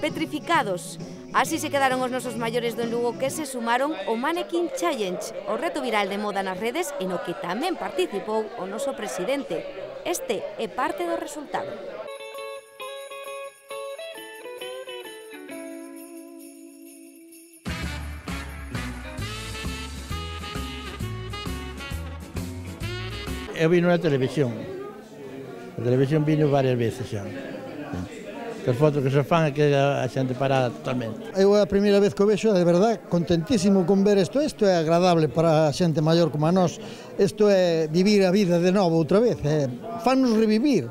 petrificados. Así se quedaron os nosos maiores do Lugo que se sumaron ao Mannequin Challenge, o reto viral de moda nas redes e no que tamén participou o noso presidente. Este é parte do resultado. Eu vino na televisión. A televisión vino varias veces xa. As fotos que se fan é que a xente parada totalmente. Eu é a primeira vez que o vexo, de verdade, contentísimo con ver isto. Isto é agradable para a xente maior como a nós. Isto é vivir a vida de novo outra vez. Fannos revivir.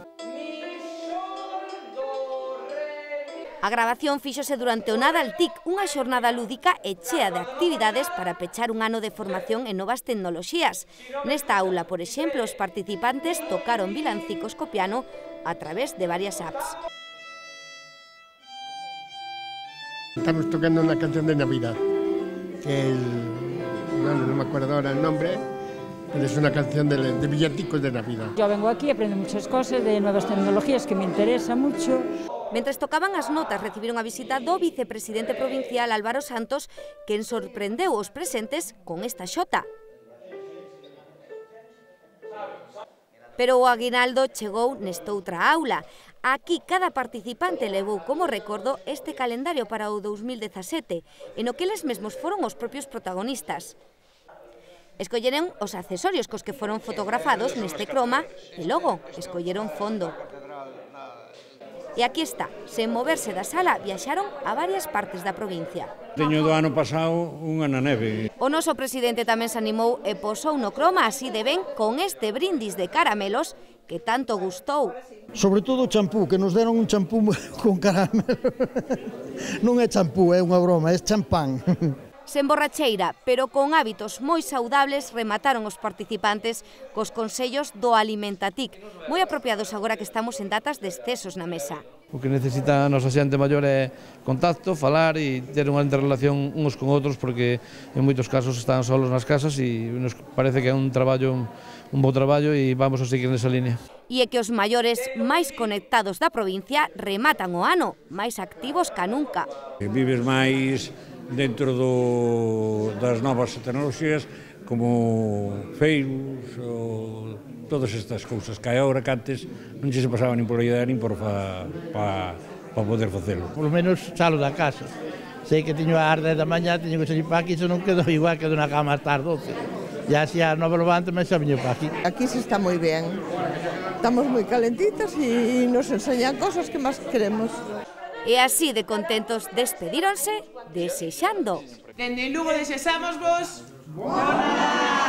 A gravación fíxose durante o Nadal TIC, unha xornada lúdica e chea de actividades para pechar un ano de formación en novas tecnoloxías. Nesta aula, por exemplo, os participantes tocaron vilancicos co piano a través de varias apps. Estamos tocando una canción de Navidad, que no me acuerdo ahora el nombre, pero es una canción de villancicos de Navidad. Yo vengo aquí, aprendo muchas cosas de nuevas tecnologías que me interesa mucho. Mentres tocaban as notas, recibiron a visita do vicepresidente provincial Álvaro Santos, quen sorprendeu os presentes con esta xota. Pero o aguinaldo chegou nestoutra aula. Aquí cada participante levou como recordo este calendario para o 2017, en o que eles mesmos foron os propios protagonistas. Escolleron os accesorios cos que foron fotografados neste croma e logo escolleron fondo. E aquí está, sen moverse da sala, viaxaron a varias partes da provincia. Teño do ano pasado unha na neve. O noso presidente tamén se animou e posou no croma así de ben con este brindis de caramelos que tanto gustou. Sobre todo o champú, que nos deron un champú con caramelo. Non é champú, é unha broma, é champán. Sen borracheira, pero con hábitos moi saudables, remataron os participantes cos consellos do Alimentatic, moi apropiados agora que estamos en datas de excesos na mesa. O que necesita a nosa xente maior é contacto, falar e ter unha interrelación uns con outros, porque en moitos casos están solos nas casas e nos parece que é un bo traballo e vamos a seguir nesa línea. E é que os maiores máis conectados da provincia rematan o ano, máis activos ca nunca. Vives máis dentro das novas tecnoloxías como Facebook ou todas estas cousas que agora que antes non se pasaba nin pola idea nin por para poder facelo. Por lo menos salo da casa. Sei que teño a 10 da mañá, teño que salir para aquí, se non quedo igual que na cama hasta as 12. E así a 9 levanto, mas xa veño para aquí. Aquí se está moi ben. Estamos moi calentitas e nos enseñan cosas que máis queremos. E así de contentos despedíronse desexando. Dende Lugo desexamos vos... Bona!